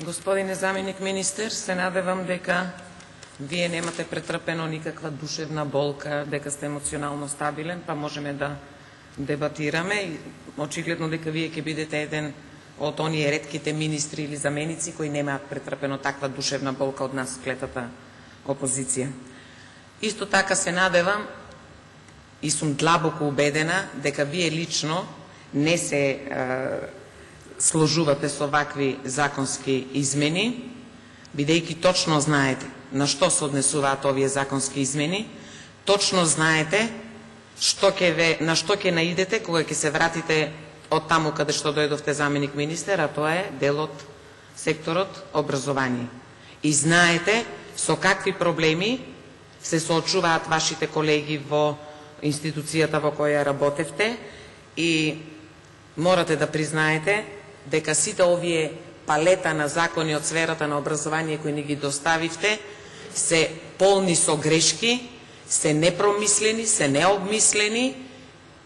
Господине заменик министер, се надевам дека вие немате претрпено никаква душевна болка, дека сте емоционално стабилен, па можеме да дебатираме. Очигледно дека вие ќе бидете еден од оние ретките министри или заменици кои немаат претрпено таква душевна болка од нас, клетата опозиција. Исто така се надевам и сум длабоко убедена дека вие лично не се сложувате со вакви законски измени, бидејќи точно знаете на што се однесуваат овие законски измени, точно знаете на што ќе наидете кога ќе се вратите од таму каде што дојдовте заменик министер, а тоа е дел од секторот образование. И знаете со какви проблеми се соочуваат вашите колеги во институцијата во која работевте и морате да признаете дека сите овие палета на закони од сферата на образование кои ни ги доставивте се полни со грешки, се непромислени, се необмислени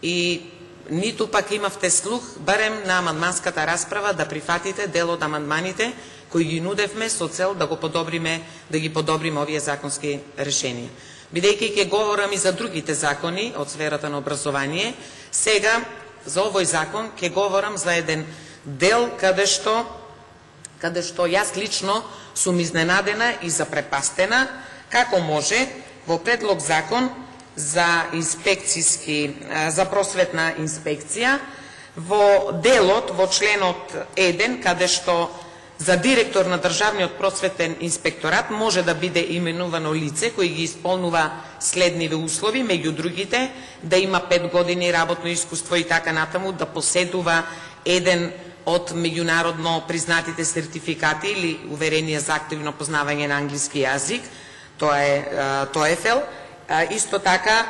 и ниту пак имавте слух, барем на амандманската расправа, да прифатите дел од амандманите кои ги нудевме со цел да ги подобриме овие законски решенија. Бидејќи ќе говорам и за другите закони од сферата на образование, сега за овој закон ќе говорам за еден дел каде што јас лично сум изненадена и запрепастена како може во предлог закон за просветна инспекција во делот во членот 1 каде што за директор на Државниот просветен инспекторат може да биде именувано лице кој ги исполнува следниве услови, меѓу другите да има 5 години работно искуство и така натаму, да поседува еден од меѓународно признатите сертификати или уверение за активно познавање на англиски јазик, тоа е TOEFL. Исто така,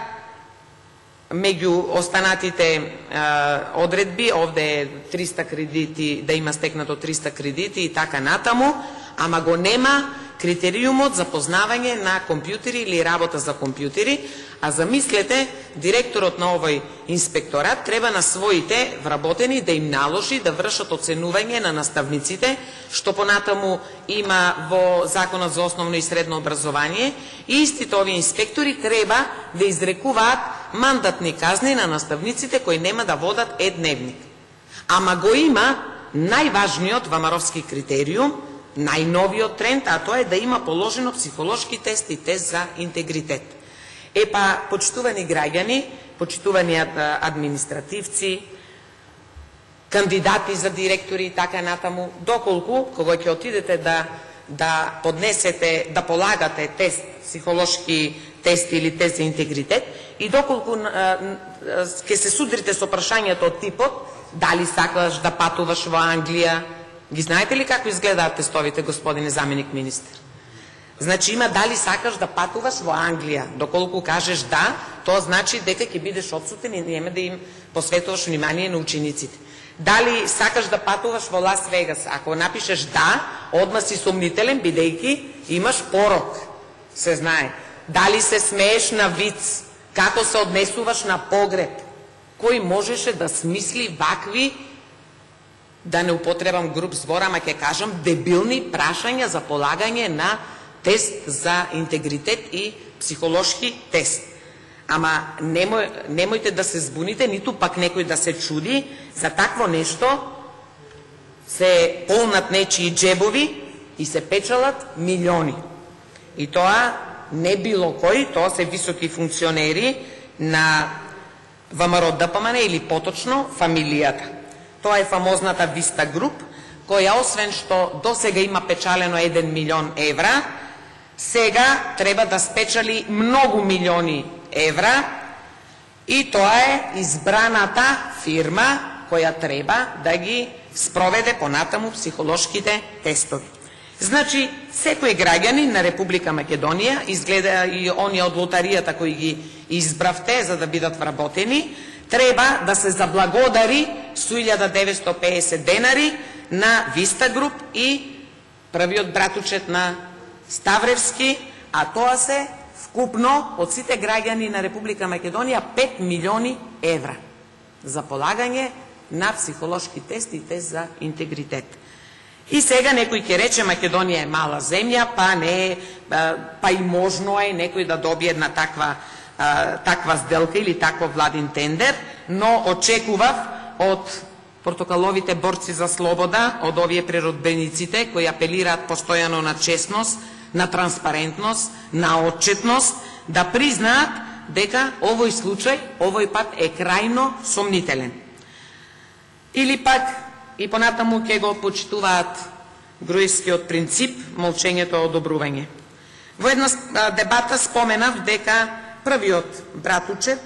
меѓу останатите одредби, овде е 300 кредити, да има стекнато 300 кредити и така натаму, ама го нема критериумот за познавање на компјутери или работа за компјутери, а замислете, директорот на овој инспекторат треба на своите вработени да им наложи да вршат оценување на наставниците, што понатаму има во Законот за основно и средно образование, и истите овие инспектори треба да изрекуваат мандатни казни на наставниците кои нема да водат дневник. Ама го има најважниот вамаровски критериум, најновиот тренд, а тоа е да има положено психолошки тест и тест за интегритет. Епа, почитувани граѓани, почитувани административци, кандидати за директори и така натаму, доколку, кога ќе отидете да поднесете, да полагате тест, психолошки тест или тест за интегритет, и доколку ќе се судрите со прашањето од типот, дали сакаш да патуваш во Англија, ги знаете ли како изгледаат тестовите, господине заменик министер? Значи има дали сакаш да патуваш во Англија. Доколку кажеш да, тоа значи дека ќе бидеш отсутен и нема да им посветуваш внимание на учениците. Дали сакаш да патуваш во Лас Вегас? Ако напишеш да, одма си сомнителен, бидејќи имаш порок. Се знае. Дали се смееш на виц? Како се однесуваш на погреб? Кој можеше да смисли вакви, да не употребам груб збор, ама ќе кажам дебилни прашања за полагање на тест за интегритет и психолошки тест. Ама немојте да се збуните, ниту пак некој да се чуди, за такво нешто се полнат нечии джебови и се печалат милиони. И тоа не било кој, тоа се високи функционери на ВМРО ДПМН или поточно фамилијата. Тоа е фамозната Виста Груп, која освен што досега има печалено 1 милион евра, сега треба да спечали многу милиони евра и тоа е избраната фирма која треба да ги спроведе понатаму психолошките тестови. Значи, секој граѓанин на Република Македонија, изгледа и оние од лотаријата кои ги избравте за да бидат вработени, треба да се заблагодари со 1950 денари на Виста Груп и првиот братучет на Ставревски, а тоа се вкупно од сите граѓани на Република Македонија 5 милиони евра за полагање на психолошки тест и тест за интегритет. И сега некој ќе рече Македонија е мала земја, па не, па и можно е некој да добие една таква сделка или таков владин тендер, но очекував од портокаловите борци за слобода, од овие преродбениците кои апелираат постојано на честност, на транспарентност, на отчетност, да признаат дека овој случај, овој пат е крајно сомнителен. Или пак и понатаму ќе го почитуваат Груевскиот принцип, молчењето е одобрување. Во една дебата споменав дека првиот братучет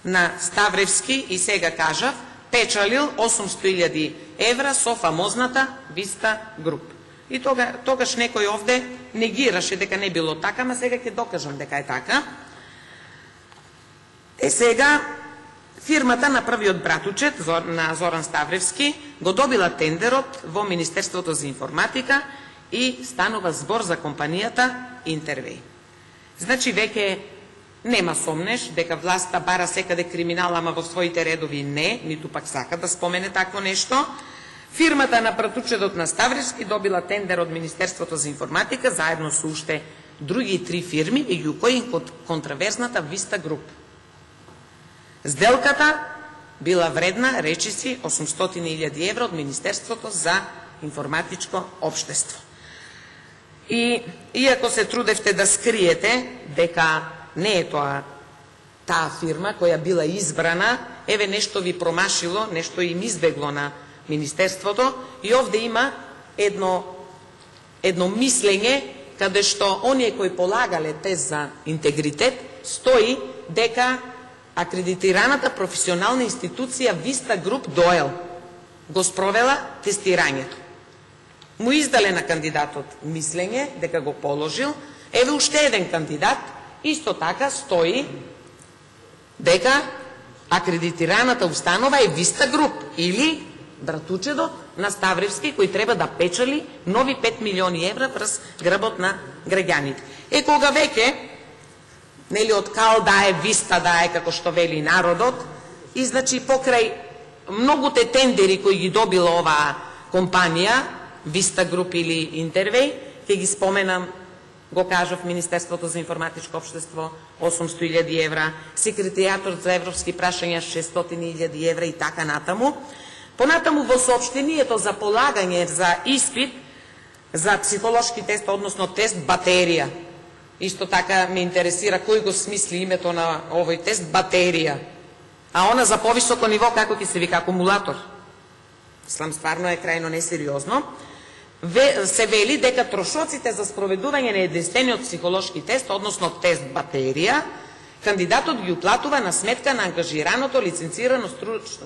на Ставревски, и сега кажав, печалил 800.000 евра со фамозната Виста Груп. И тогаш некој овде негираше дека не било така, ама сега ќе докажам дека е така. Сега фирмата на првиот братучет на Зоран Ставревски го добила тендерот во Министерството за информатика и станува збор за компанијата Интервеј. Значи веќе нема сомнеш дека власта бара секаде криминал, ама во своите редови не, ниту пак сака да спомене такво нешто. Фирмата на братучетот на Ставревски добила тендер од Министерството за информатика заедно со уште други 3 фирми, меѓу кои контраверзната Виста Груп. Сделката била вредна, речиси, 800.000 евра од Министерството за информатичко општество. И иако се трудевте да скриете дека не е таа фирма која била избрана, еве нешто ви промашило, нешто им избегло на Министерството, и овде има едно мислење каде што оние кои полагале тест за интегритет стои дека акредитираната професионална институција Виста Груп Доел го спровела тестирањето. Му издале на кандидатот мислење дека го положил, еве уште еден кандидат, исто така стои дека акредитираната установа е Виста Груп или братучедот на Ставревски, кој треба да печали нови 5 милиони евра врз грбот на граѓаните. Кога веќе, нели од кал дае, Виста дае, како што вели народот, и значи покрај многуте тендери кои ги добила оваа компанија, Виста Груп или Интервеј, ќе ги споменам, го кажав, Министерството за информатичко општество 800.000 евра, Секретаријатот за европски прашања 600.000 евра и така натаму. Понатаму во соопштението за полагање за испит за психолошки тест, односно тест батерија. Исто така ме интересира кој го смисли името на овој тест батерија. А она за повисоко ниво како ќе се вика акумулатор. Слам стварно е крајно несериозно. Се вели дека трошоците за спроведување на единствениот психолошки тест, односно тест батерија, кандидатот ги уплатува на сметка на ангажираното лиценцирано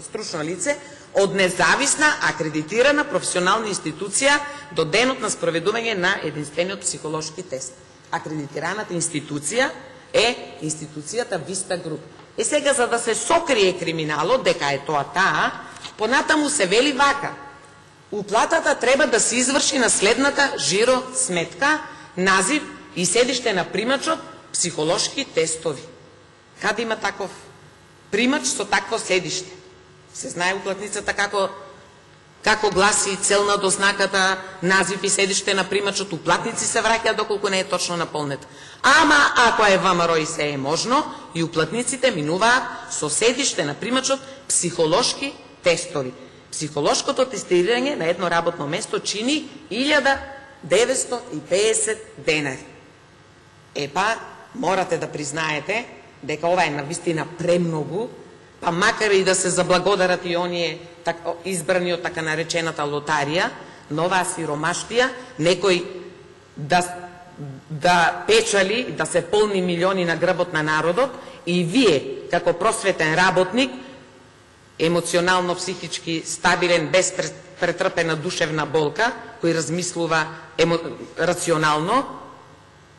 стручно лице од независна акредитирана професионална институција до денот на спроведување на единствениот психолошки тест. Акредитираната институција е институцијата Виста Груп. Сега, за да се сокрие криминалот, дека е тоа таа, понатаму се вели вака: уплатата треба да се изврши на следната жиро сметка, назив и седиште на примачот, психолошки тестови. Каде има таков примач со такво седиште? Се знае уплатницата како гласи целна дознаката, назив и седиште на примачот, уплатници се враќаат доколку не е точно наполнета. Ама ако е ВМРО и се е можно, и уплатниците минуваат со седиште на примачот психолошки тестови. Психолошкото тестирање на едно работно место чини 1950 денари. Епа, морате да признаете дека ова е навистина премногу, па макар и да се заблагодарат и оние избрани од така наречената лотарија, но оваа сиромаштија, некој да печали, да се полни милиони на грбот на народот, и вие, како просветен работник, емоционално, психички стабилен, без претрпена душевна болка, кој размислува рационално,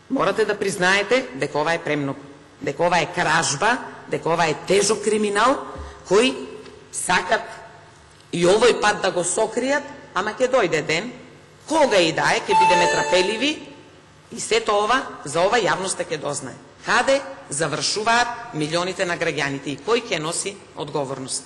морате да признаете дека ова е премногу, дека ова е кражба, дека ова е тежок криминал, кој сакат и овој пат да го сокријат, ама ќе дојде ден, кога и да е, ќе бидеме трапеливи, и сето ова, за ова јавноста ќе дознае. Каде завршуваат милионите на граѓаните и кој ќе носи одговорност?